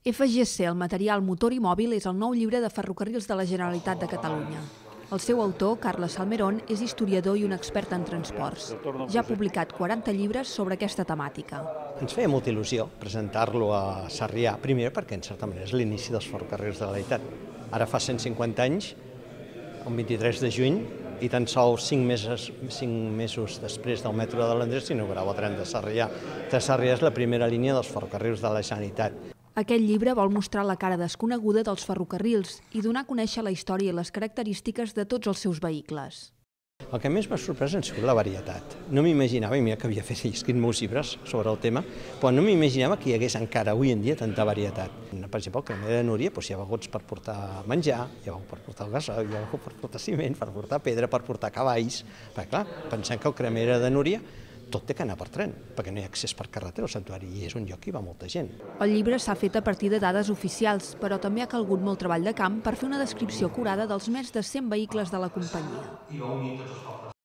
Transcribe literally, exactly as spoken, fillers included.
F G C, el material motor i mòbil, és el nou llibre de ferrocarrils de la Generalitat de Catalunya. El seu autor, Carles Salmerón, és historiador i un expert en transports. Ja ha publicat quaranta llibres sobre aquesta temàtica. Ens feia molta il·lusió presentar-lo a Sarrià, primer perquè en certa manera és l'inici dels ferrocarrils de la Generalitat. Ara fa cent cinquanta anys, el vint-i-tres de juny, i tan sols cinc mesos, cinc mesos després del metro de l'Andrés s'inaugurava el tren de Sarrià. De Sarrià és la primera línia dels ferrocarrils de la Generalitat. Aquest llibre vol mostrar la cara desconeguda dels ferrocarrils i donar a conèixer la història i les característiques de tots els seus vehicles. El que més m'ha sorprès ha sigut la varietat. No m'imaginava, i mira que havia fet i escrit molts llibres sobre el tema, però no m'imaginava que hi hagués encara avui en dia tanta varietat. Per exemple, el cremer de Núria hi ha vagots per portar menjar, hi ha vagots per portar el gasoil, hi ha vagots per portar ciment, per portar pedra, per portar cavalls. Perquè clar, pensem que el cremer de Núria tot té que anar per tren, perquè no hi ha accés per carretera al santuari i és un lloc que hi va molta gent. El llibre s'ha fet a partir de dades oficials, però també ha calgut molt treball de camp per fer una descripció acurada dels més de cent vehicles de la companyia.